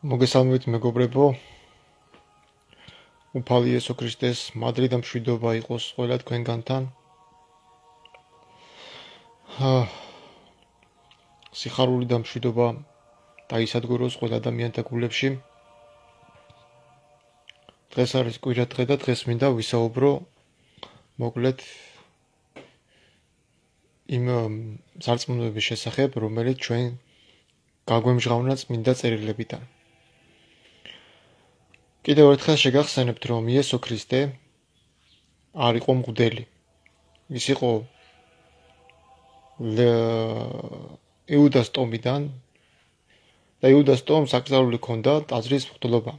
მოგესალმებით მეგობრებო, უფალი იესო ქრისტეს მადლი და მშვიდობა იყოს ყველა თქვენგანთან. სიხარული და მშვიდობა დაისადგუროს ყველა ადამიანთა გულებში. დღეს არის კვირა დღე და დღეს მინდა ვისაუბრო მოკლედ იმ სარწმუნოების შესახებ, რომელიც ჩვენ გაგვემჟღავნა წმინდა წერილებიდან. კიდევ ერთხელ შეგახსენებთ, რომ იესო ქრისტე არ იყო მღვდელი. ის იყო იუდას ტომიდან და იუდას ტომს აკრძალული ჰქონდა ტაძრის მღვდლობა.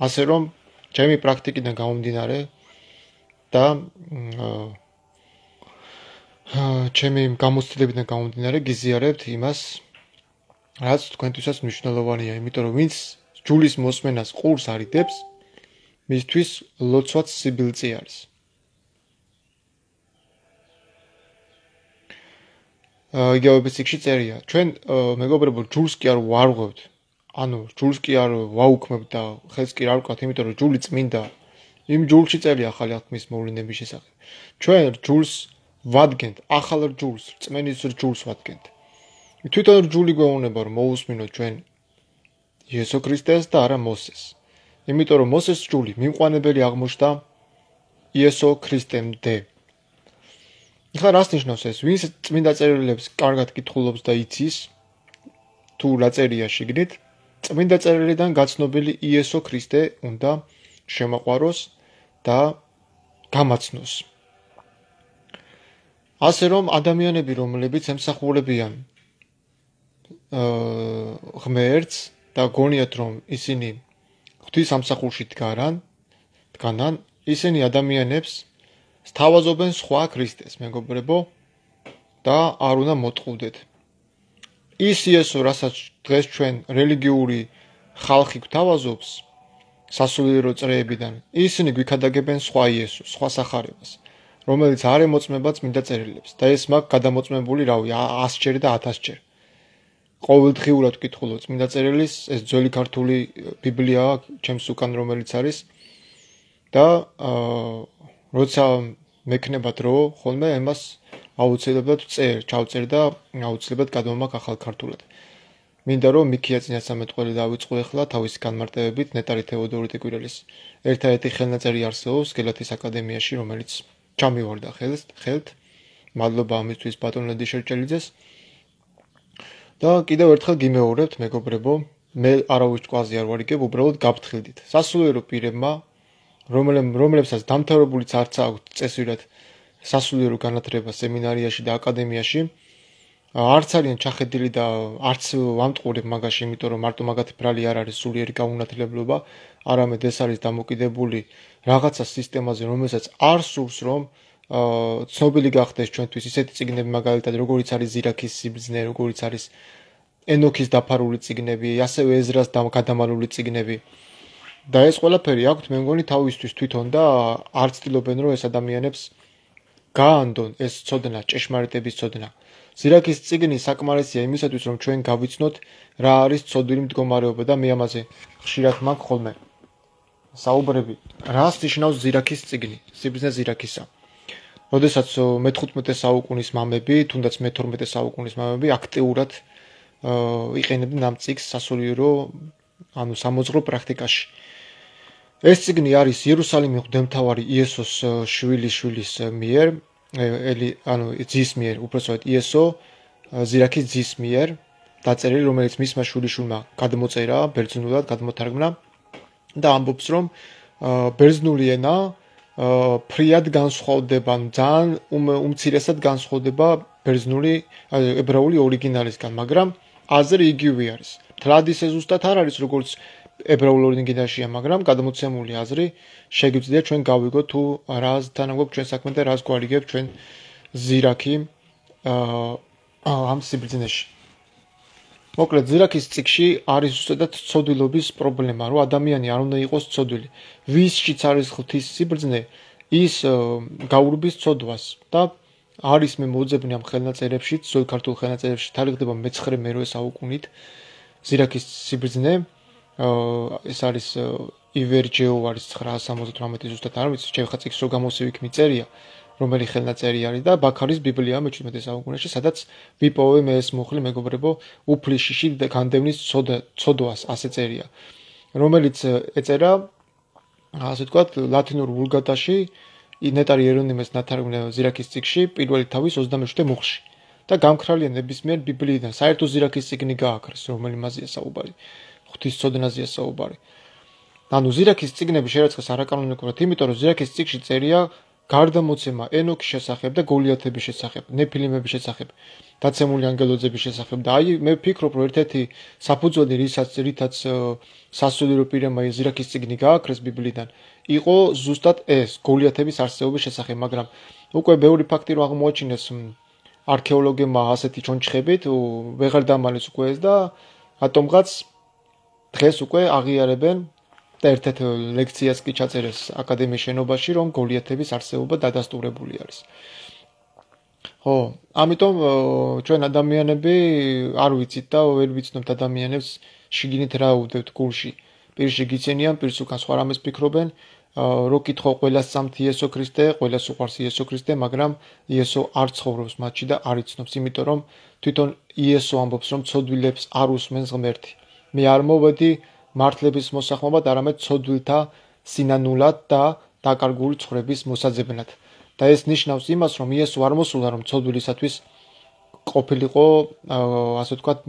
ასე რომ ჩემი პრაქტიკიდან გამომდინარე და ჩემი გამოცდილებიდან გამომდინარე გიზიარებთ იმას, რაც თქვენთვისაც მნიშვნელოვანია, იმიტომ რომ ვინც ჯულის მოსმენას ყურს არიდებს, მისთვის ლოცვაც სიბილწე არის. იგივე ციკში წერია, ჩვენ მეგობრებო ჯულს კი არ ვარღვევთ, ანუ ჯულს კი არ ვაუქმებთ და ხელს კი არ ვკავთ, იმიტომ რომ ჯული წმინდა. იმ ჯულში წერია ახალი აღთქმის მოვლენების შესახებ. ჩვენ ჯულს ვადგენთ, ახალ ჯულს, რწმენის ჯულს ვადგენთ. თვითონ ჯული გვეუბნება რომ მოусმინოთ ჩვენ იესო ქრისტეს და არა მოსეს. იმიტომ რომ მოსეს ჯული მიმყვანებელი აღმოჩნდა იესო ქრისტემდე. ეხლა რას ნიშნავს ეს? ვინც წმინდა წერილებს კარგად კითხულობს და იცის, თუ რა წერია შიგნით, წმინდა წერილიდან გაცნობილი იესო ქრისტე უნდა შემაყვაროს და გამაცნოს. ასე რომ ადამიანები, რომლებიც ემსახურებიან ღმერთს და გონიათ რომ ისინი ღვთის სამსახურში დგანან, ისინი ადამიანებს სთავაზობენ სხვა ქრისტეს, მეგობრებო, და არ უნდა მოტყუდეთ. ის იესო, რასაც დღეს ჩვენ რელიგიური ხალხი გვთავაზობს სასულიერო წრეებიდან, ისინი გვიქადაგებენ სხვა იესოს, სხვა სახარებას, რომელიც არ ემოწმება წმინდა წერილებს და ეს მაგ გადამოწმებული 100-ჯერ და 1000-ჯერ. ყოველდღიურად ვკითხულობ წმინდა წერილის, ეს ძველი ქართული ბიბლიაა, ჩემს უკან რომელიც არის და როცა მექნება დრო, ხოლმე ამას აუცილებლად ჩავწერ და აუცილებლად გადმომაქ ახალ ქართულად. მინდა რომ მიქია წინასწარმეტყველი დავიწყო ახლა თავისი განმარტებებით ნეტარი თეოდორე ტეკვირელის ერთადერთი ხელნაწერი არსებობს გელათის აკადემიაში, რომელიც ჩამივარდა ხელთ. მადლობა ამისთვის ბატონ ლედი შერჭელიძეს. და კიდევ ერთხელ გიმეორებთ, მეგობრებო, მე არავის ჭკვალზე არ ვარიგებ, უბრალოდ გაფრთხილდით. სასულიერო პირებმა, რომლებსაც დამთავრებულიც არც აქვთ წესვირად სასულიერო განათლება სემინარიაში და აკადემიაში, არც არიან ჩახედილი და არც ვამტყურებ მაგაში, იმიტომ რომ მარტო მაგათი ბრალი არ არის სულიერი გაუნათლებლობა, არამედ ეს არის დამოკიდებული რაღაცა სისტემაზე, რომელსაც არ სურს რომ ცნობილი გახდეს ჩვენთვის ისეთი წიგნები, მაგალითად როგორიც არის ზირაქის სიბრძნე, როგორიც არის ენოქის დაფარული წიგნები, ასევე ეზრას გადამალული წიგნები. და ეს ყველაფერი აქვთ, მე მგონი თავისთვის თვითონ და არ ცდილობენ რომ ეს ადამიანებს გაანდონ ეს ცოდნა, ჭეშმარიტების ცოდნა. ზირაქის წიგნი საკმარისია იმისათვის, რომ ჩვენ გავიცნოთ რა არის ცოდვილი მდგომარეობა და მე ამაზე ხშირად მაქვს ხოლმე საუბრები. რას ნიშნავს ზირაქის წიგნი, სიბრძნე ზირაქისა. როდესაც მე-15 საუკუნის მამები, თუნდაც მე-12 საუკუნის მამები აქტიურად იყენებდნენ ამ წიგნს სასულიერო, ანუ სამოძღვრო პრაქტიკაში. ეს წიგნი არის იერუსალიმის მღვდელმთავარი იესოს შვილის მიერ, ძის მიერ, უпроსტად იესო ზირაქის ძის მიერ დაწერილი, რომელიც მისმა შვილიშვილმა გადმოწერა, ბერძნულად გადმოთარგმნა და ამბობს, რომ ბერძნული ენა ფრიად განსხვავდება, ძალიან უმცირესად განსხვავდება ბერძნული, ებრაული ორიგინალისგან, მაგრამ აზრი იგივე არის. მთლად ისე ზუსტად არ არის, როგორც ებრაულ ორიგინალშია, მაგრამ გადმოცემული აზრი შეგვიძლია ჩვენ გავიგოთ თუ რასთან გვაქვს ჩვენ საქმე და რას გვარიგებ ჩვენ ზირაქი ამ სიბრძნეში. მოკლედ ზირაქის წიგნში არის ზუსტად ცოდვილობის პრობლემა, რომ ადამიანი არ უნდა იყოს ცოდვილი. ვისშიც არის ღვთის სიბრძნე, ის გაურბის ცოდვას და არის მე მოძებნი ამ ხელნაწერებში, ძველ ქართულ ხელნაწერებში თარიღდება მე-9-მე-8 საუკუნით ზირაქის სიბრძნე ეს არის ივერჯეო არის 978 ზუსტად არ ვიცი, შევხა წიგნს რო გამოსივიქ მიწერია, რომელი ხელნაწერი არის და ბაქარის ბიბლია მე-17 საუკუნეში, სადაც ვიპოვე მე ეს მუხლი მეგობრებო, უფლიშიში განდევნის ცოდვას ასე წერია, რომელიც ეწერა ასე ვთქვათ ლათინურ ვულგატაში ნეტარი ერონიმეს ნათარგმნე ზირაქის წიგნში პირველი თავის 27 მუხლში და გამქრალია ნებისმიერ ბიბლიიდან საერთო ზირაქის წიგნი გააქრეს, რომელი მაზია საუბარი, ღვთისმსოდნაზეა საუბარი. ანუ ზირაქის წიგნები შერაცხეს არაკანონიკურად, იმიტომ რომ ზირაქის წიგნში წერია გარდამოცემა ენოქის შესახებ და გოლიათების შესახებ, ნეფილიმების შესახებ, დაცემული ანგელოზების შესახებ და აი მე ვფიქრობ, რომ ერთ-ერთი საფუძველი რითაც სასულიერო პირებმა ზირაქის წიგნი გააქრეს ბიბლიდან, იყო ზუსტად ეს გოლიათების არსებობის შესახებ, მაგრამ უკვე ბევრი ფაქტი რომ აღმოაჩინეს არქეოლოგებმა ასეთი ჩონჩხებით, ვეღარ დამალეს უკვე ეს და ატომღაც დღეს უკვე აღიარებენ და ერთ-ერთ ლექციას კი ჩაწერეს აკადემიის შენობაში, რომ გოლიათების არსებობა დადასტურებული არის. ხო, ამიტომ ჩვენ ადამიანები არ ვიცით და ვერ ვიცნობთ ადამიანებს შიგნით რა უდევთ გულში. პირში გიცენიან, პირს უკან სხვა რამეს ფიქრობენ, რო კითხო ყველას სამთ იესო ქრისტე, ყველას უყვარს იესო ქრისტე, მაგრამ იესო არ ცხოვრობს მათში და არ იცნობს, იმიტომ რომ თვითონ იესო ამბობს, რომ ცოდვილებს არ უსმენს ღმერთი. მე არ მოვედი მართლების მოსახმობად, არამედ ცოდვილთა სინანულად და დაკარგული ცხოვრების მოსაძებნად. და ეს ნიშნავს იმას, რომ იესო არ მოსულა, რომ ცოდვილისათვის ყოფილიყო, ასე ვთქვათ,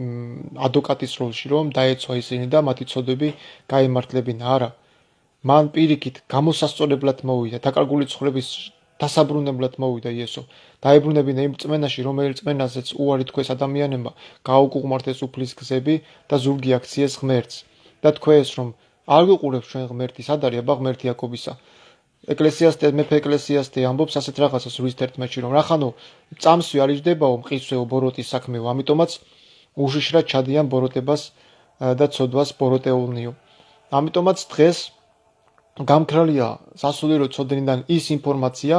ადვოკატის როლში, რომ დაეცვა ისინი და მათი ცოდვები გაემართლებინა. არა. მან პირიქით გამოსასწორებლად მოვიდა, დაკარგული ცხოვრების დასაბრუნებლად მოვიდა იესო. დაებრუნებინა იმ წმენაში, რომელიც წმენასაც უარი თქვეს ადამიანებმა, გაუკუღმართეს უფლის გზები და ზურგი აქციეს ღმერთს. და თქვეს, რომ არ გიყურებს ჩვენ ღმერთი, სად არის აბა ღმერთი იაკობისა. ეკლესიასტე მეფე ეკლესიასტე ამბობს ასეთ რაღაცას რის 11-ში, რომ რახანო წამსვე არ იჯდებაო, მყისვეო, ბოროტის საქმეო, ამიტომაც უშიშრად ჩადიან ბოროტებას და ცოდვას ბოროტეულნიო. ამიტომაც დღეს გამქრალია სასულიერო ცოდნიდან ის ინფორმაცია,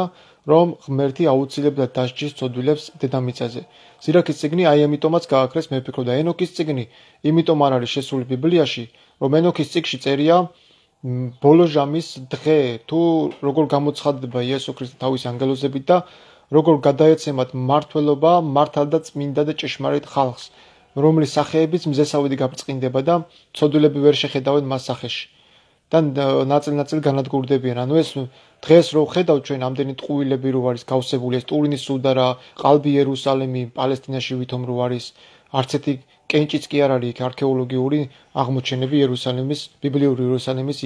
რომ ღმერთი აუცილებლად დასჯის ცოდვილებს დედამიწაზე. ზირაქის წიგნი აი ამიტომაც გააქრეს, მე ვფიქრობ და ენოქის წიგნი იმიტომ არ არის შესული ბიბლიაში, რომ ენოქის წიგნში წერია ბოლო ჟამის დღე, თუ როგორ გამოცხადდება იესო ქრისტე თავის ანგელოზებით და როგორ გადაეცემათ მართლობა, მართალ და წმინდა და ჭეშმარიტ ხალხს, რომლის სახეებიც მზესავედი გაბრწყინდება და ცოდვილები ვერ შეხედავენ მას სახეში. და ნაწილ-ნაწილ განადგურდებიან. ანუ ეს დღეს რო ხედავთ ჩვენ ამდენი ტყუილები რო არის გავსებული, ეს ტურინის სუდარა, ყალბი იერუსალიმი, პალესტინაში ვითომ რო არის, არც ერთი კენჭიც კი არ არის იქ არქეოლოგიური აღმოჩენები იერუსალიმის, ბიბლიური იერუსალიმის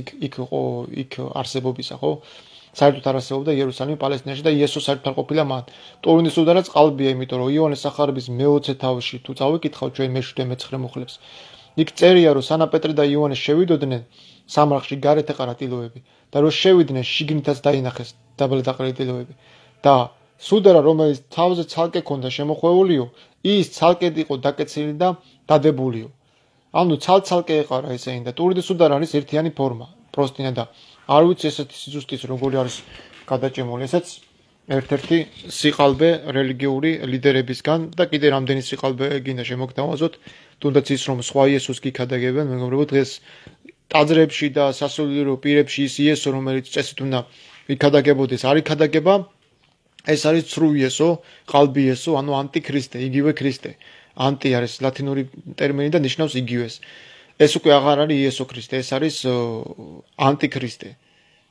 იქ არსებობისა, ხო? საერთოდ არ არსებობდა იერუსალიმი პალესტინაში და იესო საერთოდ არ ყოფილა მან. ტურინის სუდარაც ყალბია, იმიტომ რომ იოანეს სახარების მე-20 თავში თუ წავიკითხავ ჩვენ მე-7 მე-9 მუხლებს. იქ წერია რომ სანა პეტრე და იოანე შევიდოდნენ სამარხში გარეთ ეყარა ტილოები და რომ შევიდნენ შიგნითაც დაინახეს დაბალდაყრილი ტილოები და სუდარა რომელიც თავზე ცალკე ქონდა შემოხვეულიო ის ცალკედ იყო დაკეცილი და დადებულიო. ანუ ცალ-ცალკე ეყარა ესენი და ტურინის სუდარა არის ერთიანი ფორმა, პროსტინა და არ ვიცი ესეთი სიზუსტის როგორი არის გადაჭიმული, ესაც ერთ-ერთი სიყალბე რელიგიური ლიდერებისგან და კიდე რამდენი სიყალბე გინდა შემოგთავაზოთ, თუნდაც ის რომ სხვა იესოს გიქადაგებენ, მეგობრებო, დღეს ტაძრებში და სასულიერო პირებში ის იესო, რომელიც წესით უნდა იქადაგებოდეს, არ იქადაგება, ეს არის ცრუ იესო, ყალბი იესო, ანუ ანტიქრისტე, იგივე ქრისტე. ანტი არის ლათინური ტერმინი და ნიშნავს იგივეს. ეს უკვე აღარ არის იესო ქრისტე, ეს არის ანტიქრისტე.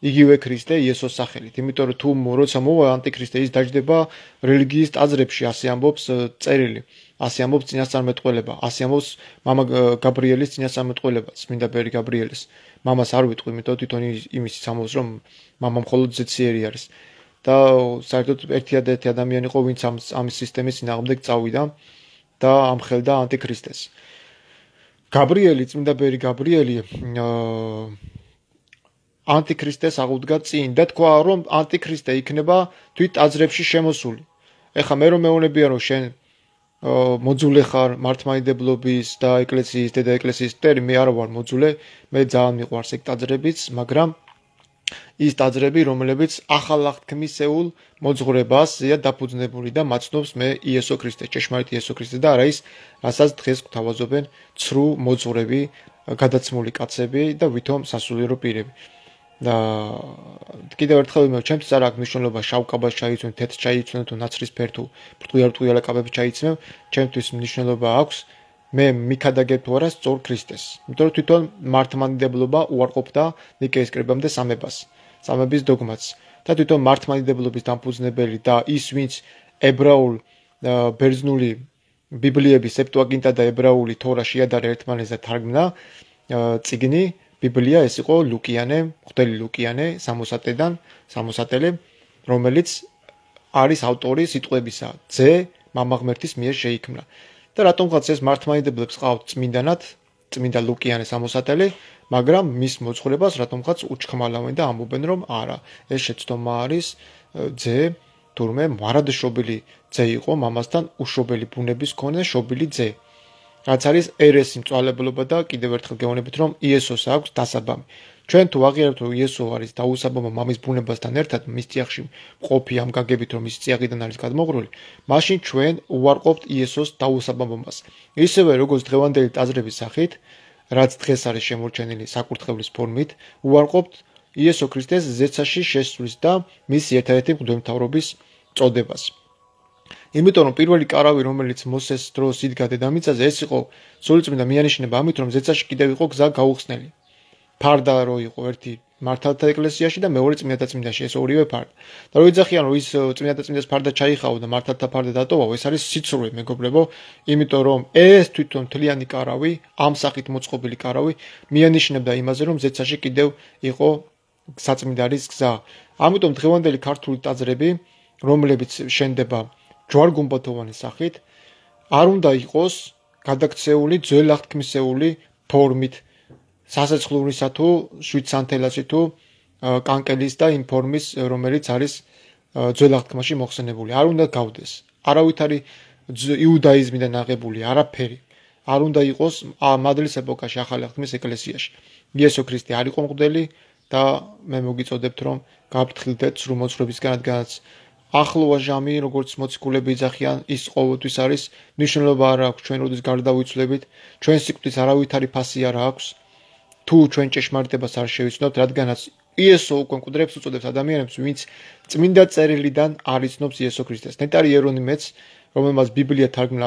იგივე ქრისტე იესოს სახელით. იმიტომ რომ თუ როცა მოვა ანტიქრისტე, ის დაჯდება რელიგიის ტაძრებში, ასე ამბობს წერილი. ასე ამბობს წინასწარმეტყველება, ასე ამბობს მამა გაბრიელის წინასწარმეტყველება, წმინდა ბერი გაბრიელის. მამას არ ვიტყვი, იმიტომ თვითონ იმის ამბობს, რომ მამა მხოლოდ ზეციერი არის. და საერთოდ ერთადერთი ადამიანი იყო, ვინც ამ სისტემის წინააღმდეგ წავიდა და ამხელდა ანტიქრისტეს. გაბრიელი, წმინდა ბერი გაბრიელი ანტიქრისტეს აღუდგა წინ და თქვა, რომ ანტიქრისტე იქნება თვით ტაძრებში შემოსული. ეხლა მე რომ მეუბნებია, რომ შენ მოძულე ხარ მართლმადიდებლობის და ეკლესიის, დედა ეკლესიის მტერი, მე არ ვარ მოძულე, მე ძალიან მიყვარს ეგ ტაძრებიც, მაგრამ ის ტაძრები, რომლებიც ახალ აღთქმისეულ მოძღვრებასია დაფუძნებული და მაცნობს მე იესო ქრისტე, ჭეშმარიტ იესო ქრისტე და არა ის, რასაც დღეს გვთავაზობენ ცრუ მოძღვრები, გადაცმული კაცები და ვითომ სასულიერო პირები. და კიდევ ერთხელ ვიმეორებ, ჩემთვის არ აქვს მნიშვნელობა შავ კაბას ჩაიცვენ, თეთრ ჩაიცვენ თუ ნაცრისფერ თუ ბრტყილა კაბები ჩაიცმევ, ჩემთვის მნიშვნელობა აქვს მე მიქადაგებ თუ არა სწორ ქრისტეს. იმიტომ რომ თვითონ მართლმადიდებლობა უარყოფდა ნიკეის კრებამდე სამებას, სამების დოგმას. და თვითონ მართლმადიდებლობის დამფუძნებელი და ის, ვინც ებრაულ ბერძნული ბიბლიების სეპტუაგინტა და ებრაული თორა შეადარა ერთმანეთს და თარგმნა წიგნი ბიბლია, ეს იყო ლუკიანე, მღვდელი ლუკიანე სამოსატელე, რომელიც არის ავტორი სიტყვებისა ძე მამა ღმერთის მიერ შეიქმნა. და რატომღაც ეს მართლმადიდებლებს ყავთ წმინდა ლუკიანე სამოსატელე, მაგრამ მის მოძღვრებას რატომღაც უჩხმალავენ და ამბობენ, რომ არა, ეს შეცდომა არის ძე, თურმე მარადშობილი ძე იყო, მამასთან უშობელი ბუნების მქონე შობილი ძე. რაც არის ერესი მწვალებლობა და კიდევ ერთხელ გეუბნებით, რომ იესოს აქვს დასაბამი. ჩვენ თუ აღიარებთ, რომ იესო არის დაუსაბამო მამის ბუნებასთან ერთად, მის წიაღში მყოფი ამ გაგებით, რომ ის წიაღიდან არის გადმოღრული, მაშინ ჩვენ უარყოფთ იესოს დაუსაბამობას. ისევე როგორც დღევანდელი ტაძრების სახით, რაც დღეს არის შემორჩენილი საკურთხევლის ფორმით, უარყოფთ იესო ქრისტეს ზეცაში შესვლის და მის ერთადერთი მღვდელმთავრობის წოდებას. იმიტომ რომ პირველი კარავი, რომელიც მოსეს დროს იდგა დედამიწაზე, ეს იყო სულიწმინდა მიანიშნება ამით, რომ ზეცაში კიდევ იყო გზა გაუხსნელი. ფარდა რო იყო ერთი მართალთა ეკლესიაში და მეორე წმინდათაწმინდაში, ეს ორივე ფარდა. და რო იძახიან, რომ ის წმინდათაწმინდას ფარდა ჩაიხაო და მართალთა ფარდა დატოვაო, ეს არის სიცრუე, მეგობრებო, იმიტომ რომ ეს თვითონ მთლიანი კარავი, ამ სახით მოწყობილი კარავი, მიანიშნებდა იმაზე, რომ ზეცაში კიდევ იყო საწმინდარის გზა. ამიტომ დღევანდელი ქართული ტაძრები, რომლებიც შენდება ჯვარ-გუმბათოვანი სახით, არ უნდა იყოს გადაქცეული ძველ აღთქმისეული ფორმით, სასეცხვლურისა თუ შვიდსანთელასი თუ კანკელის და იმ ფორმის, რომელიც არის ძველ აღთქმაში მოხსენებული. არ უნდა გავდეს. არავითარი იუდაიზმიდან აღებული არაფერი. არ უნდა იყოს მადლის ეპოქაში ახალი აღთქმის ეკლესიაში. იესო ქრისტე არ იყო მღვდელი და მე მოგიწოდებთ, რომ გაფრთხილდეთ სრულ მოძღვრებისგან, რადგანაც ახლოა ჟამი, როგორც მოციქულები იძახიან, ის ყოველთვის არის, მნიშვნელობა არ აქვს ჩვენ როდის გარდავიცვლებით, ჩვენ სიკვდილს არავითარი ფასი არ აქვს, თუ ჩვენ ჭეშმარიტებას არ შევიცნობთ, რადგანაც იესო უკვე მკვდრებს უწოდებს ადამიანებს, ვინც წმინდა წერილიდან არ იცნობს იესო ქრისტეს. ნეტარი იერონიმეც, რომელმაც ბიბლია თარგმნა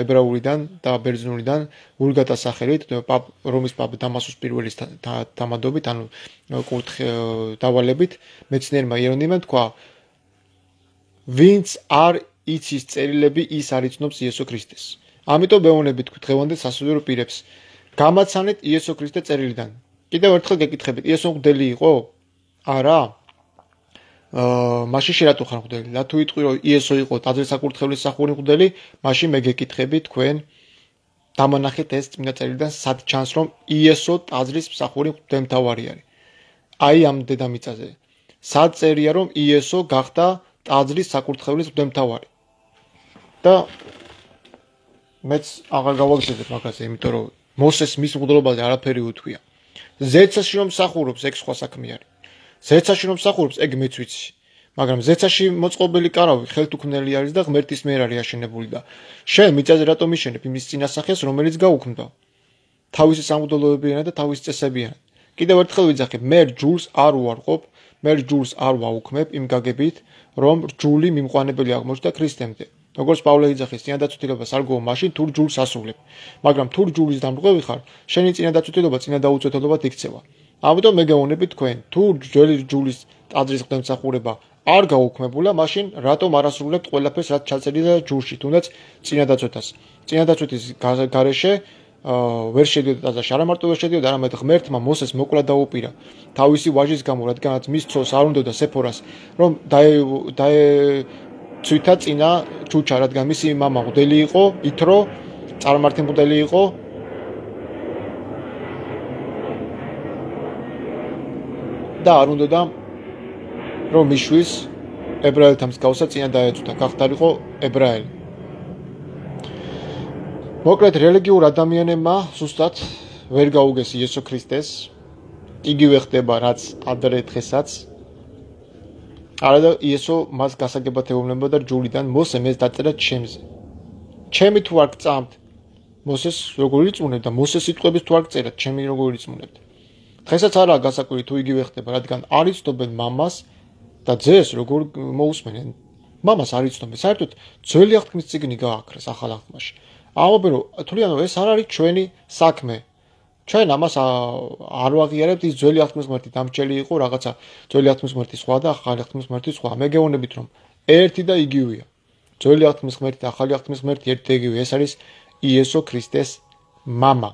ებრაულიდან და ბერძნულიდან ვულგატა სახელით, რომის პაპ დამასკოს პირველის თამადობით, ანუ დავალებით, მეცნიერმა იერონიმემ თქვა, ვინც არ იცის წერილები, ის არ იცნობს იესო ქრისტეს. ამიტომ მეუბნებით დღევანდელ სასულიერო პირებს, გამაცანეთ იესო ქრისტე წერილიდან. კიდევ ერთხელ გეკითხებით, იესო მღვდელი იყო? არა. მაშინ შე რატო ხარ მღვდელი? და თუ იტყვი, რომ იესო იყო ტაძრის საკურთხევლის მსახური მღვდელი, მაშინ მე გეკითხები თქვენ დამანახეთ ეს წმინდა წერილიდან, სად ჩანს, რომ იესო ტაძრის მსახური მღვდელმთავარი არის. აი ამ დედამიწაზე. სად წერია, რომ იესო გახდა ტაძრის საკურთხევლის მღვდელმთავარი. და მეც აღარ გავაგზავნებ მაგაზე, იმიტომ რომ მოსეს მის მღვდლობაზე არაფერი უთქვია. ზეცაში რომ მსახურობს, ეგ სხვა საქმე არის. ზეცაში რომ მსახურობს, ეგ მეც ვიცი. მაგრამ ზეცაში მოწყობილი კარავი ხელთუქმნელი არის და ღმერთის მიერ არის აშენებული და შენ მიწაზე რატომ იშენებ იმის წინასახეს, რომელიც გაუქმდა? თავისი სამღვდელოებიანად და თავისი წესებიანად. კიდევ ერთხელ ვიძახებ, მე რჯულს არ უარყოფ, მე რჯულს არ ვაუქმებ იმ გაგებით, რომ რჯული მიმყვანებელი აღმოჩნდა ქრისტემდე. როგორც პავლე იძახის, წინადაცვლიობას არ გო მაშინ თუ რჯულს ასრულებ. მაგრამ თუ რჯულის დამრღვევი ხარ, შენი წინადაცვლილობა წინადაუწვეთელობად იქცევა. ამიტომ მე გეუბნებით თქვენ, თუ ძველი რჯულის ტაძრის მღვდელმსახურება არ გაუქმებულა, მაშინ რატომ არ ასრულებთ ყველაფერს, რაც ჩაწერილია ჯურში, თუნდაც წინადაცვეთას. წინადაცვეთის გარეშე ვერ შედიოდა ტაძარში, არა მარტო ვერ შედიოდა, არამედ ღმერთმა მოსეს მოკლა დაუპირა თავისი ვაჟის გამო, რადგანაც მის ცოლს არ უნდოდა სეფორას, რომ დაეცვითა წინა ჩუჩა, რადგან მისი მამა მღვდელი იყო, ითრო, წარმართი მღვდელი იყო. და არ უნდოდა რომ მიშვის ებრაელთა მსგავსად წინა დაეცუთა, გახდარიყო ებრაელი. მოკლედ რელიგიურ ადამიანებმა ზუსტად ვერ გაუგეს იესო ქრისტეს იგივე ხდება რაც ადრე დღესაც. არა და იესო მას გასაგებად ეუბნება და ჯულიდან მოსე მეს დაწერა ჩემზე. ჩემი თუ არ გწამთ მოსეს როგორ იწუნებ და მოსეს სიტყვების თუ არ გწერათ ჩემი როგორ იწუნებთ. დღესაც არაა გასაკვირი თუ იგივე ხდება, რადგან არ იცნობენ მამას და ძეს როგორ მოусმენენ. მამას არ იცნობენ. საერთოდ ძველი აღთქმის წიგნი გააქრეს ახალ აღთქმაში. ამობენ რომ თვლიანო ეს არ არის ჩვენი საქმე. ჩვენ ამას არ ვაღიარებთ, ის ძველი აღთქმის ღმერთი დამრჩელი იყო, რაღაცა ძველი აღთქმის ღმერთი სხვა და ახალი აღთქმის ღმერთი სხვა. მე გეუბნებით რომ ერთი და იგივეა. ძველი აღთქმის ღმერთი და ახალი აღთქმის ღმერთი ერთი და იგივე. ეს არის იესო ქრისტეს მამა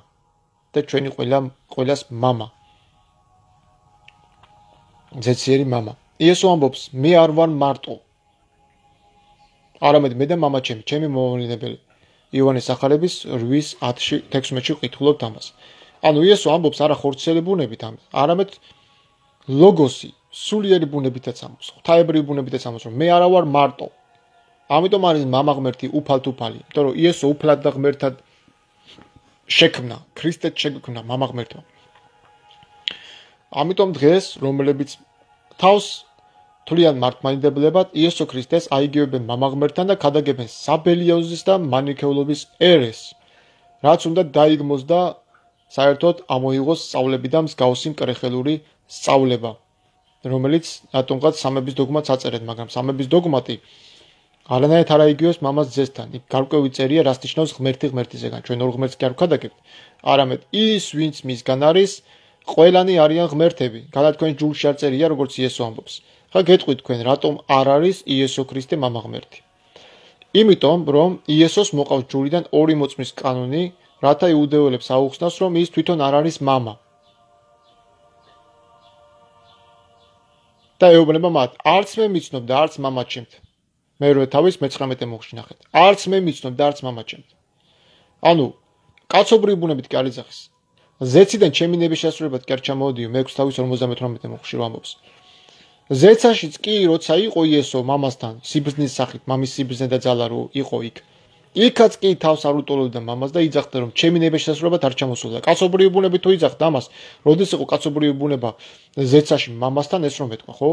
და ჩვენი ყველას მამა. ძეციერი მამა. იესო ამბობს, მე არ ვარ მარტო. არამედ მე და მამა ჩემი მომავლინებელი. იოანეს სახარების 8:10-ში 16-ში ვკითხულობთ ამას. ანუ იესო ამბობს არა ხორცელი ბუნებით ამას, არამედ ლოგოსი, სულიერი ბუნებითაც ამბობს, ღვთაებრივი ბუნებითაც ამბობს, რომ მე არა ვარ მარტო. ამიტომ არის მამა ღმერთი უფალ-თუფალი, იმიტომ რომ იესო უფლად და ღმერთად შექმნა, ქრისტედ შექმნა მამა ღმერთმა. ამიტომ დღეს რომლებიც თავს თვლიან მართლმადიდებლებად იესო ქრისტეს აიგივებენ მამა ღმერთთან და ქადაგებენ საბელიოზის და მანიქეულობის ერეს, რაც უნდა დაიგმოს და საერთოდ ამოიღოს სწავლები და მსგავსი მკრეხელური სწავლება, რომელიც რატომღაც სამების დოგმატს აწერეთ, მაგრამ სამების დოგმატი არანაირად არ აიგივებს მამას ძესთან. იქ გარკვევი წერია, რას ნიშნავს ღმერთი ღმერთისგან. ჩვენ ორ ღმერთს კი არ ვქადაგებთ, არამედ ის, ვინც მისგან არის, ყველანი არიან ღმერთები. გადა თქვენ ჯულში არ წერია, როგორც იესო ამბობს. ხა გეტყვით თქვენ, რატომ არ არის იესო ქრისტე მამა ღმერთი? იმიტომ, რომ იესოს მოყავს ჯულიდან ორი მოწმის კანონი, რათა იუდეველებს აუხსნას, რომ ის თვითონ არ არის მამა. და ეუბნება მათ, არც მე მიცნობ და არც მამა ჩემთ. მერვე თავის 19 მოხში ნახეთ. არც მე მიცნობ და არც მამა ჩემთ. ანუ კაცობრივი ბუნებით კი არ იძახის. ზეციდან ჩემი ნების შესრულებად კი არ ჩამოვდიო, მე-6 თავის 58 მოხში რომ ამბობს. ზეცაშიც კი როცა იყო იესო მამასთან სიბრძნის სახით, მამის სიბრძნე და ძალა რო იყო იქ. იქაც კი თავს არ უტოლობდა მამას და იძახდა რომ ჩემი ნების შესრულებად არ ჩამოსულა. კაცობრივი ბუნებით თუ იძახდა ამას, როდის იყო კაცობრივი ბუნება ზეცაში მამასთან ეს რომ ეთქვა, ხო?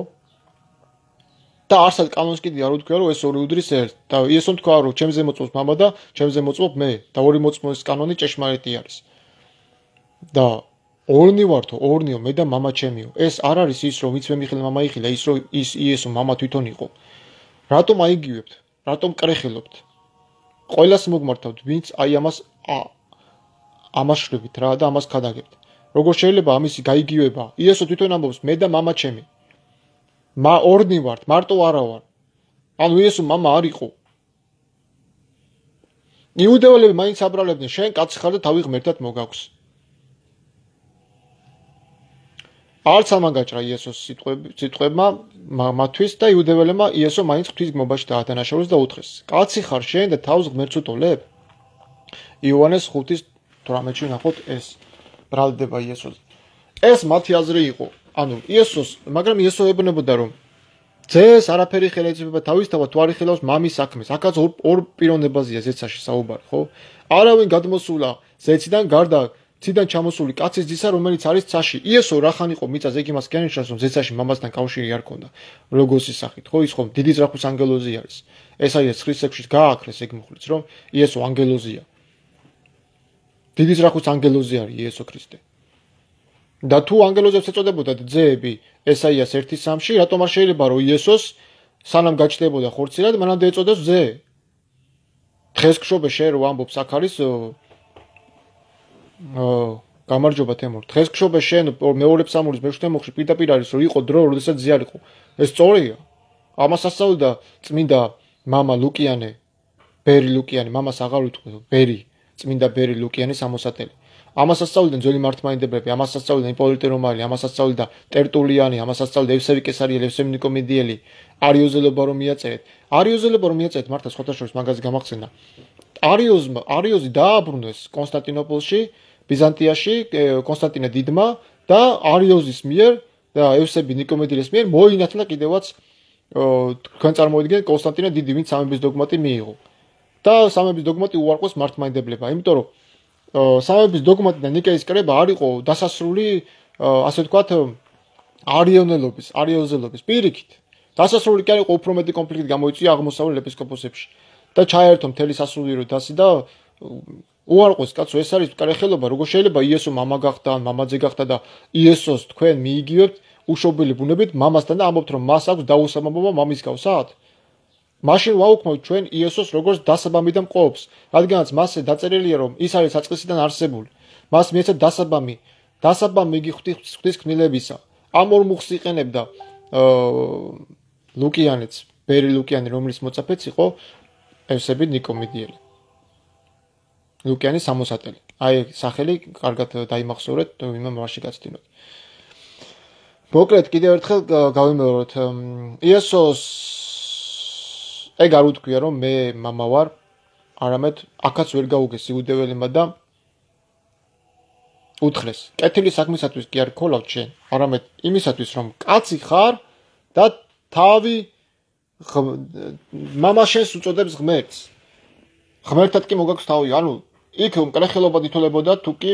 და არსად კანონს კიდე არ უთქვია რომ ეს ორი უდრის ერთ და იესომ თქვა რომ ჩემზე მოწმობს მამა და ჩემზე მოწმობ მე და ორი მოწმობის კანონი ჭეშმარიტი არის. და ორნი ვართო, ორნიო, მე და მამა ჩემიო. ეს არ არის ის რომ ვინც მე მიხილ მამა იხილა, ის რომ ის იესო მამა თვითონ იყო. რატომ აიგივებთ? რატომ კრეხილობთ? ყველას მოგმართავთ, ვინც აი ამას შვებით რა და ამას ქადაგებთ. როგორ შეიძლება ამისი გაიგივება? იესო თვითონ ამბობს, მე და მამა ჩემი. ორნი ვართ, მარტო არა ვარ. ანუ იესო მამა არ იყო. იუდეველები მაინც აბრალებდნენ, შენ კაცი ხარ და თავი ღმერთად მოგაქვს. არც ამაგაჭრა იესოს სიტყვებმა მათთვის და იუდეველებმა იესო მაინც ღვთის გმობაში დაადანაშაულეს და უთხრეს, კაცი ხარ შენ და თავს ღმერთს უტოლებ? იოანეს 5:18-ში ნახოთ ეს ბრალდება იესოზე. ეს მათი აზრი იყო. ანუ იესოს, მაგრამ იესო ეუბნებოდა რომ ძეს არაფერი ხელეწება თავისთავად თუ არ იხილავს მამის საქმეს. აქაც ორ პიროვნებაზეა ზეცაში საუბარი, ხო? არავინ გადმოსულა ზეციდან გარდა ციდან ჩამოსული კაცის ძისა, რომელიც არის ცაში. იესო რახან იყო მიწაზე, ეგ იმას კენეშას რომ ზეცაში მამასთან კავშირი არ ქონდა. ლოგოსის სახით, ხო? ის ხომ დიდი ძრახვის ანგელოზი არის. ესაიას 9:6-ში გააქრეს ეგ მოხლიც, რომ იესო ანგელოზია. დიდი ძრახვის ანგელოზი არის იესო ქრისტე. და თუ ანგელოზებს ეწოდებოდათ ძეები ესაიას 1:3-ში, რატომ არ შეიძლება რომ იესოს სანამ გაჩნდებოდა ხორცილად, მანამდე ეწოდეს ძე? დღეს გშობე შენ რო ამბობს აქ არის გამარჯობა თემურ. დღეს გშობე შენ მეორე ფსამურის მე-7 მოხში პირდაპირ არის რომ იყო დრო, როდესაც ძე არ იყო. ეს სწორია. ამას ასწავლდა წმინდა მამა ლუკიანე, ბერი ლუკიანი, მამას აღარ უთქვი, ბერი, წმინდა ბერი ლუკიანის ამოსატელი. ამას ასწავლდნენ ძველი მართლმადიდებლები, ამას ასწავლდნენ იპოლიტე რომაელი, ამას ასწავლდა ტერტულიანი, ამას ასწავლდა ევსევი კესარიელი, ევსევი ნიკომედიელი, არიოზელობა რომ მიაწერეთ. არიოზელობა რომ მიაწერეთ, მართლა სხვათა შორის მაგაზე გამახსენდა. არიოზი დააბრუნეს კონსტანტინოპოლში, ბიზანტიაში, კონსტანტინე დიდმა და არიოზის მიერ და ევსევი ნიკომედიელის მიერ მოინათლა კიდევაც თქვენ წარმოვიდგინეთ კონსტანტინე დიდი, ვინც სამების დოგმატი მიიღო. და სამების დოგმატი უარყვეს მართლმადიდებლება, იმიტომ რომ სამების დოგმატი და ნიკეის კრება არ იყო დასასრული ასე ვთქვათ, არიოზელობის პირიქით. დასასრული კი არ იყო უფრო მეტი კონფლიქტი გამოიწვია აღმოსავლელ ეპისკოპოსებში და ჩაერთო მთელი სასულიერო დასი და უარყვეს კაცო, ეს არის მკარეხელობა, როგორ შეიძლება იესო მამა გახდა, მამაძე გახდა და იესოს თქვენ მიიგივებთ უშობილი ბუნებით მამასთან და ამბობთ რომ მას აქვს დაუსამამობა მამის გავსად? მაშინ ვაუქმოთ ჩვენ იესოს როგორც დასაბამი და მყოფს, რადგანაც მასზე დაწერილია რომ ის არის საწყისიდან არსებული. მას მიეცა დასაბამი იგი ღვთის ქმნილებისა. ამ ორ მუხს იყენებდა ლუკიანეც, ბერი ლუკიანი, რომლის მოწაფეც იყო ევსები ნიკომიდიელი. ლუკიანი 60-ელი. აი სახელი კარგად დაიმახსოვრეთ, ვინმე მასში გაცდინოთ. მოკლედ კიდევ ერთხელ გავიმეოროთ. იესოს ეგ არ უთქვია რომ მე მამა ვარ, არამედ აქაც ვერ გაუგეს იუდეველებმა და უთხრეს. კეთილი საქმისათვის კი არ ქოლავ ჩვენ, არამედ იმისათვის რომ კაცი ხარ და თავი მამა შენს უწოდებს ღმერთს. ღმერთად კი მოგაქვს თავი, ანუ იქ მკრეხელობა ითოლებოდა თუ კი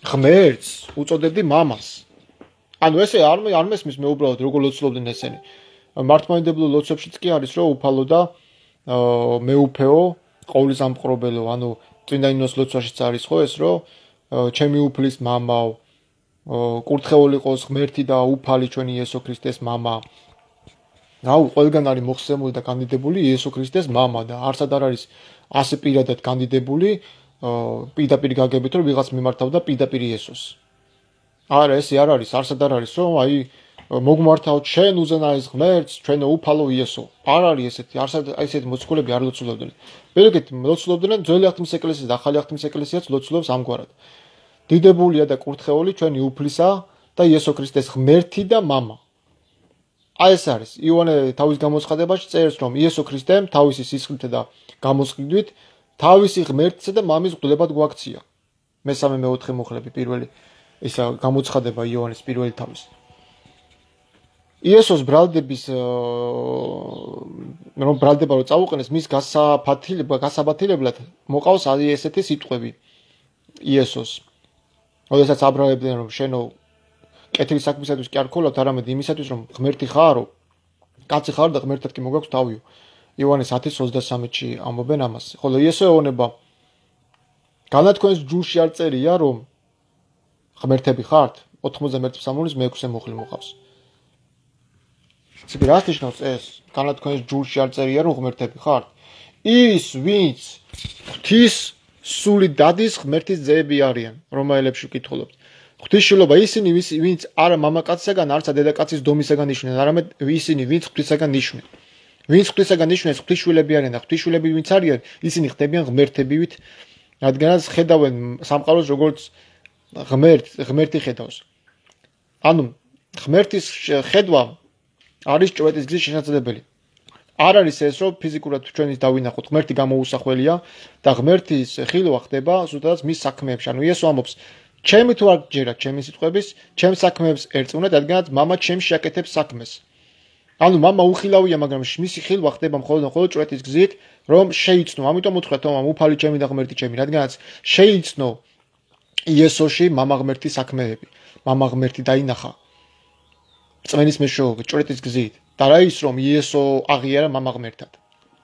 ღმერთს უწოდებდი მამას. ანუ ესე არ მესმის მე უბრალოდ როგორ ლოცულობდნენ ესენი. მართლმადიდებლურ ლოცვებშიც კი არის რომ უფალო და მეუფეო, ყოვლისამყრობელო, ანუ წმინდა ნინოს ლოცვაშიც არის ხო ეს რომ ჩემი უფლის მამაო, კურთხეული ყოს ღმერთი და უფალი ჩვენი იესო ქრისტეს მამა. რაუ ყველგან არის მოხსენებული და კანდიდებული იესო ქრისტეს მამა და არცად არ არის ასე პირადად კანდიდებული პირდაპირ გაგებით რომ ვიღაც მიმართავდა პირდაპირ იესოს. არა ესე არ არის, არცად არ არის რომ აი მოგმართავ ჩვენ უზენაეს ღმერთს, ჩვენო უფალო იესო. არ არის ესეთი, არცად ესეთი მოციქულები არ ლოცულობდნენ. მერეკეთ ლოცულობდნენ ძველი აღთქმის ეკლესია და ახალი აღთქმის ეკლესიაც ლოცულობს ამგვარად. დიდებულია და კურთხეული ჩვენი უფლისა და იესო ქრისტეს ღმერთი და მამა. აი ეს არის. იოანე თავის გამოცხადებაში წერს რომ იესო ქრისტემ თავისი სისხლით და გამოსყიდვით თავისი ღმერთისა და მამის მღვდლებად გვაქცია. მესამე მეოთხე მუხლები პირველი ისა გამოცხადება იოანეს პირველი თავის. იესოს ბრალდების რომ ბრალდება რომ წაუყენეს მის გასაბათილებლად მოყავს ესეთი სიტყვები იესოს. როდესაც აბრალებდნენ რომ შენო კეთილი საქმისათვის კი არ ქოლავთ, არამედ იმისათვის რომ ღმერთი ხარო, კაცი ხარ და ღმერთად კი მოგაქვს თავიო. იოანეს 10:23-ში ამბობენ ამას. ხოლო იესო ეუბნება განათქვენს ჯულში არ წერია რომ ღმერთები ხართ? 91 ფსალმურის მე-6 მუხლი მოყავს. ციგ რას ნიშნავს ეს? განათქვენს ჯულში არ წერია რომ ღმერთები ხართ? ის ვინც ღვთის სული დადის ღმერთის ძეები არიან, რომაელებში ვკითხულობთ. ღვთისშვილობა ისინი ვინც არა მამაკაცისაგან, არცა დედაკაცის დომისაგან იშვნენ, არამედ ისინი ვინც ღვთისაგან იშვნენ. ვინც ღვთისაგან იშვნენ, ღვთისშვილები არიან და ღვთისშვილები ვინც არიან, ისინი ხდებიან ღმერთებივით, რადგანაც ხედავენ სამყაროს როგორც ღმერთი ხედავს. ანუ ღმერთის ხედვა არის ჭვეთის გზის შესაძლებელი. არ არის ეს რომ ფიზიკურად ჩვენის დავინახოთ, ღმერთი გამოუსახველია და ღმერთის ხილვა ხდება ზუსტად მის საქმეებში. ანუ იესო ამბობს ჩემი თუ არ გჯერათ ჩემი სიტყვების, ჩემს საქმეებს ერწმუნეთ, რადგანაც მამა ჩემში აკეთებს საქმეს. ანუ მამა უხილავია, მაგრამ მისი ხილვა ხდება მხოლოდ ჭვეთის გზით, რომ შეიცნო. ამიტომ უთხრა თომამ უფალი ჩემი და ღმერთი ჩემი, რადგანაც შეიცნო იესოში მამა ღმერთის საქმეები. მამა ღმერთი დაინახა წმენის მეშვეობით, ჭვეთის გზით. და რა ის რომ იესო აღიარა მამა ღმერთად.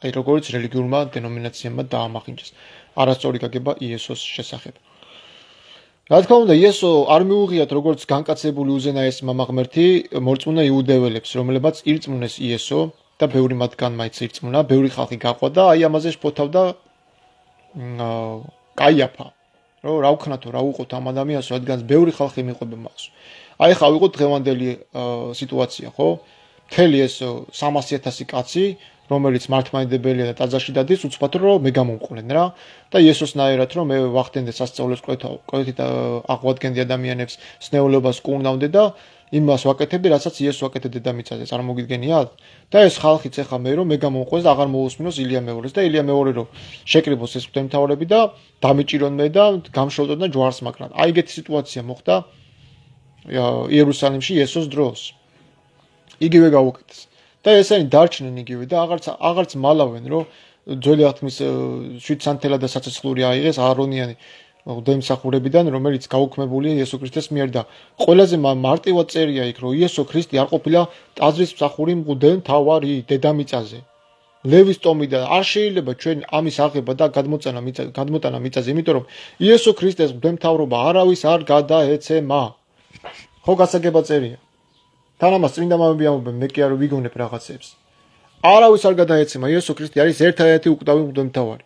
აი როგორც რელიგიურმა დენომინაციებმა დაამახინჯეს. არასწორი გაგება იესოს შესახებ. რა თქმა უნდა, იესო არ მიუღიათ როგორც განკაცებული უზენაეს მამა ღმერთი მორწმუნა იუდეველებს, რომლებაც ირწმუნეს იესო და ბევრი მათგან მაინც ირწმუნა, ბევრი ხალხი გაყვა და აი ამაზე შფოთავდა კაიაფა. რომ რა ვქნათო, რა უყოთ ამ ადამიანს, რადგან ბევრი ხალხი მიყვება მას. აი ხა ვიყოთ დღევანდელი სიტუაცია, ხო? მთელი ეს 300,000 კაცი, რომელიც მართლმადიდებელია და ტაძარში დადის, უცბად რომ მე გამომყვნენ რა და იესოსნაირად რომ მე ვახდენდე სასწაულებს კვეთით აღვადგენდი ადამიანებს სნეულობას კუნდავდე და იმას ვაკეთებდი, რასაც იესო აკეთებდა დედამიწაზე, წარმოგიდგენიათ? და ეს ხალხიც ეხა მე რომ მე გამომყვეს და აღარ მოусმინოს ილია მეორეს და ილია მეორე რომ შეკრიბოს ეს ღვთისმთავრები და დამიჭირონ მე და გამშველდონ და ჯვარს მაგრამ. აი ეგეთი სიტუაცია მოხდა იერუსალიმში იესოს დროს. იგივე გაუკეთეს. და ესენი დარჩნენ იგივე და აღარც მალავენ რომ ძველი აღთქმის 7 სანთელა და საცეცხლური აიღეს არონიანი ღვთისმსახურებიდან, რომელიც გაუქმებულია იესო ქრისტეს მიერ და ყველაზე მარტივად წერია იქ, რომ იესო ქრისტე არ ყოფილა ტაძრის მსახური მღვდელმთავარი დედამიწაზე. ლევის ტომი და არ შეიძლება ჩვენ ამის აღება და გადმოტანა მიწაზე, იმიტომ რომ იესო ქრისტეს მღვდელმთავრობა არავის არ გადაეცემა. ხო გასაგება წერია. თან ამას წმინდა მამები ამბობენ, მე კი არ ვიგონებ რაღაცებს. არავის არ გადაეცემა, იესო ქრისტე არის ერთადერთი უკვდავი მღვდელმთავარი.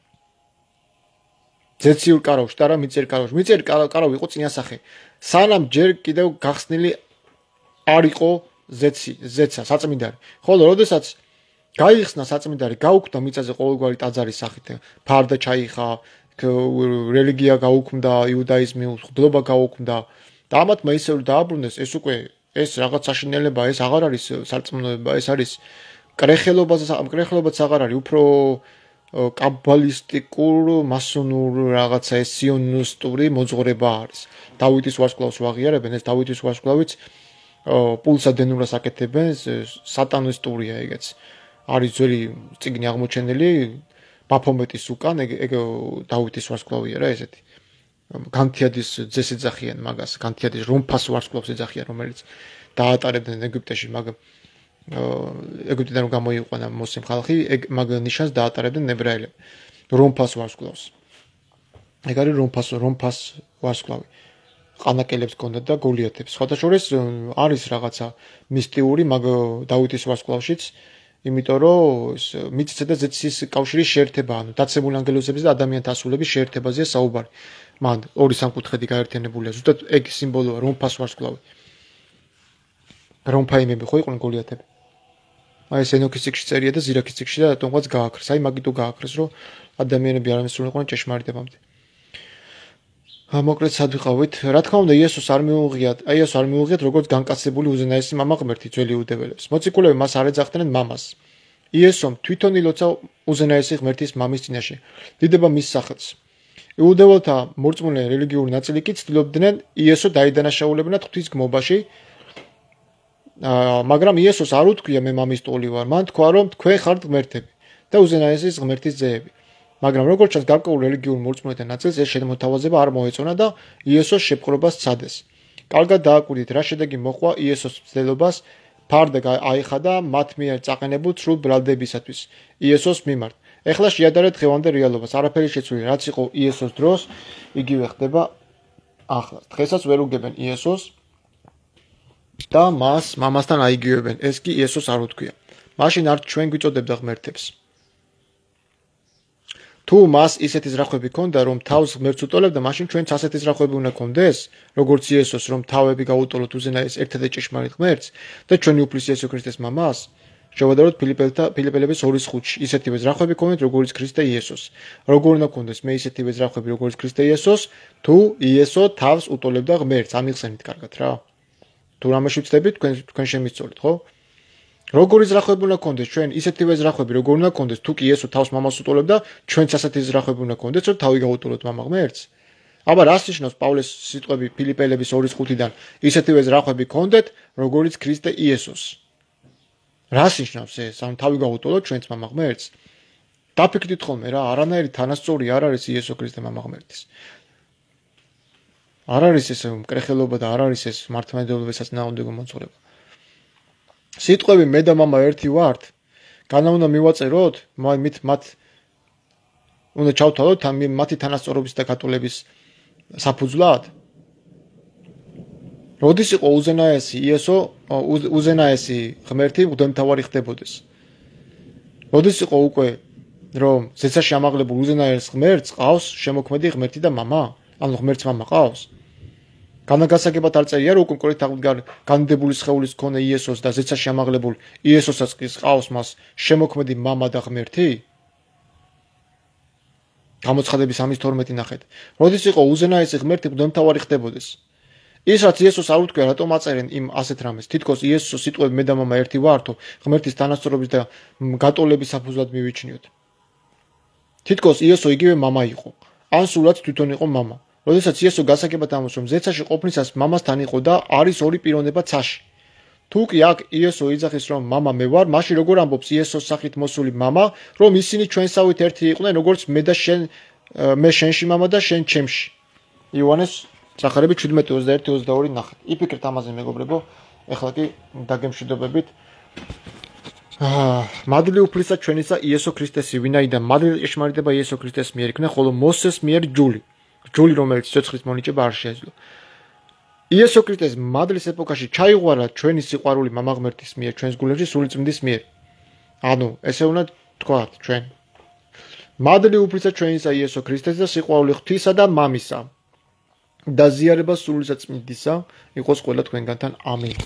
ზეციურ კარავში და რა მიწერ კარავში. მიწერ კარავი იყო წინასახე. სანამ ჯერ კიდევ გახსნილი არ იყო ზეცა, საწმინდარი. ხოლო როდესაც გაიხსნა საწმინდარი, გაუქმდა მიწაზე ყოველგვარი ტაძარის სახით. ფარდა ჩაიხა, რელიგია გაუქმდა, იუდაიზმი, მღვდლობა გაუქმდა და ამათმა ისევ დააბრუნეს, ეს უკვე ეს რაღაც საშინელება, ეს აღარ არის სარწმუნოება, ეს არის კრეხლებაც აღარ არის, უფრო კაბალისტიკურ, მასონურ რაღაცა ეს სიონისტური მოძღვრება არის. დავითის ვარსკვლავს ვაღიარებენ, ეს დავითის ვარსკვლავიც პულსა დენურას აკეთებენ, სატანისტურია ეგეც. არის ძველი წიგნი აღმოჩენილი ბაფომეტის უკან, ეგ დავითის ვარსკვლავია რა ესეთი. განთიადის ძეს ეძახიან მაგას, განთიადის რომფას ვარსკვლავს ეძახიან, რომელიც დაატარებდნენ ეგვიპტეში, მაგრამ ეგვიპტიდან რომ გამოიყვანა მოსიმ ხალხი, მაგ ნიშანს დაატარებდნენ ებრაელები. რომფას ვარსკვლავს. ეგ არის რომფას ვარსკვლავი. ყანაკელებს ჰქონდა და გოლიათებს. სხვადასხვა არის რაღაცა მისტიური მაგ დავითის ვარსკვლავშიც, იმიტომ რომ მიწისა და ზეთის კავშირის შეერთება, ანუ დაცემულ ანგელოზების და ადამიანთა ასულების შეერთებაზეა საუბარი. მან ორი სამკუთხედი გაერთიანებულია. ზუსტად ეგ სიმბოლოა რომფას ვარსკვლავი. რომფაიმები ხო იყვნენ გოლიათები. აი ეს ენოქის ციკში წერია და ზირაქის ციკში და რატომღაც გააქრეს. აი მაგიტო გააქრეს, რომ ადამიანები არ მისულიყვნენ ჭეშმარიტებამდე. მოკლედ სად ვიყავით? რა თქმა უნდა, იესოს არ მიუღიათ როგორც განკაცებული უზენაესი მამა ღმერთი ძველი იუდეველებს. მოციქულები მას არ ეძახდნენ მამას. იესომ თვითონ ილოცა უზენაესი ღმერთის მამის წინაშე. დიდება მის სახელს. იუდეველთა მორწმუნე რელიგიური ნაწილი კი ცდილობდნენ იესო დაიდანაშაულებინათ ღვთის გმობაში, მაგრამ იესოს არ უთქვია მე მამის ტოლი ვარ, მან თქვა რომ თქვენ ხართ ღმერთები და უზენაესის ღმერთის ძეები. მაგრამ როგორც ჩანს გარკვეულ რელიგიურ მორწმუნეთა ნაწილს ეს შემოთავაზება არ მოეწონა და იესოს შეპყრობას სცადეს. კარგად დააკვირდით, რა შედეგი მოყვა იესოს მცდელობას ფარდა აიხადა მათ მიერ წაყენებულ სრულ ბრალდებისათვის იესოს მიმართ. ეხლა შეადარეთ დღევანდელ რეალობას, არაფერი შეცვლილი, რაც იყო იესოს დროს, იგივე ხდება ახლა. დღესაც ვერ უგებენ იესოს და მას მამასთან აიგივებენ. ეს კი იესოს არ უთქვია. მაშინ არ ჩვენ გვიწოდებდა ღმერთებს. თუ მას ისეთი ზრახვები ჰქონდა, რომ თავს ღმერთს უტოლებდა, მაშინ ჩვენც ასეთი ზრახვები უნდა გქონდეს, როგორც იესოს, რომ თავები გაუტოლოთ უზენაეს ერთადერთ ჭეშმარიტ ღმერთს და ჩვენი უფლის იესო ქრისტეს მამას, შევადაროთ ფილიპელების 2:5-ში. ისეთივე ზრახვები გქონდეთ, როგორც ქრისტე იესოს. როგორ უნდა გქონდეს მე ისეთივე ზრახვები, როგორც ქრისტე იესოს, თუ იესო თავს უტოლებდა ღმერთს, ამიხსენით კარგად რა. თუ რამეში ვწდებით, თქვენ შემისწორეთ, ხო? როგორი ზრახვები უნდა გქონდეს ჩვენ ისეთივე ზრახვები, როგორ უნდა გქონდეს თუ კი იესო თავს მამას უტოლებდა, ჩვენც ასეთი ზრახვები უნდა გქონდეს, რომ თავი გაუტოლოთ მამა ღმერთს. აბა რას ნიშნავს პავლეს სიტყვები ფილიპელების 2:5-დან? ისეთივე ზრახვები გქონდეთ, როგორც ქრისტე იესოს. რას ნიშნავს ეს? ანუ თავი გაუტოლოთ ჩვენც მამა ღმერთს? დაფიქრდით ხოლმე რა, არანაირი თანასწორი არ არის იესო ქრისტე მამა ღმერთის. არ არის ეს მკრეხელობა და არ არის ეს მართლმადიდებლობის საწინააღმდეგო მოძღვრება. სიტყვები მე და მამა ერთი ვართ, განა უნდა მივაწეროთ, მათ უნდა ჩავთვალოთ მათი თანასწორობის და გატოლების საფუძვლად. როდის იყო უზენაესი იესო, უზენაესი ღმერთი მღვდელმთავარი ხდებოდეს? როდის იყო უკვე რომ ზეცაში ამაღლებულ უზენაეს ღმერთს ყავს შემოქმედი ღმერთი და მამა? ანუ ღმერთს მამა ყავს? განაგასაგებად არ წერია რომ კონკრეტულად განდებული სხეულის მქონე იესოს და ზეცაში ამაღლებულ იესოსაც ყავს მას შემოქმედი მამა და ღმერთი? გამოცხადების 3:12 ნახეთ. როდის იყო უზენაესი ღმერთი მღვდელმთავარი ხდებოდეს? ის რაც იესოს არ უთქვია, რატომ აწერენ იმ ასეთ რამეს? თითქოს იესოს სიტყვები მე და მამა ერთი ვართო, ღმერთის თანასწორობის და გატოლების საფუძვლად მივიჩნიოთ. თითქოს იესო იგივე მამა იყო, ან სულაც თვითონ იყო მამა. როდესაც იესო გასაგებად ამბობს, რომ ზეცაში ყოფნისას მამასთან იყო და არის ორი პიროვნება ცაში. თუ კი აქ იესო იძახის, რომ მამა მე ვარ, მაშინ როგორ ამბობს იესოს სახით მოსული მამა, რომ ისინი ჩვენსავით ერთი იყვნენ, როგორც მე შენში მამა და შენ ჩემში. იოანეს სახარები 17:21-22 ნახეთ. იფიქრეთ ამაზე მეგობრებო, ეხლა კი დაგემშვიდობებით. მადლი უფლისა ჩვენისა იესო ქრისტესი, ვინაიდან მადლი ჭეშმარიტება იესო ქრისტეს მიერ იქნა, ხოლო მოსეს მიერ ჯული, რომელიც ცოცხლის მონიჭება არ შეეძლო. იესო ქრისტეს მადლის ეპოქაში ჩაიღვარა ჩვენი სიყვარული მამა ღმერთის მიერ, ჩვენს გულებში სული წმინდის მიერ. ანუ ესე უნდა თქვათ ჩვენ. მადლი უფლისა ჩვენისა იესო ქრისტეს და სიყვარული ღვთისა და მამისა და ზიარება სულისა წმინდისა იყოს ყველა თქვენგანთან. ამინ.